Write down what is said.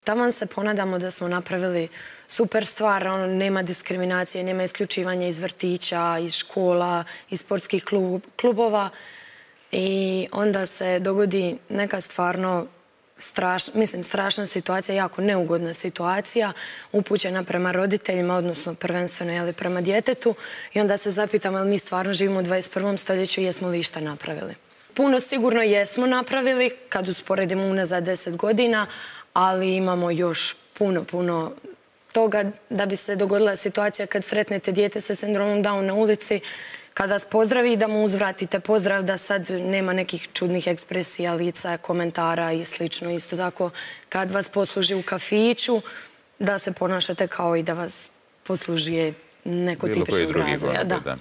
Taman se ponadamo da smo napravili super stvar, nema diskriminacije, nema isključivanja iz vrtića, iz škola, iz sportskih klubova i onda se dogodi neka stvarno strašna situacija, jako neugodna situacija, upućena prema roditeljima, odnosno prvenstveno prema djetetu i onda se zapitamo jel mi stvarno živimo u 21. stoljeću i jesmo li išta napravili. Puno sigurno jesmo napravili kad usporedimo unazad 10 godina, ali imamo još puno toga da bi se dogodila situacija kad sretnete dijete sa sindromom Down na ulici, kad vas pozdravi da mu uzvratite pozdrav, da sad nema nekih čudnih ekspresija, lica, komentara i slično. Isto tako kad vas posluži u kafiću, da se ponašate kao i da vas poslužuje neko tipičnog razvoja.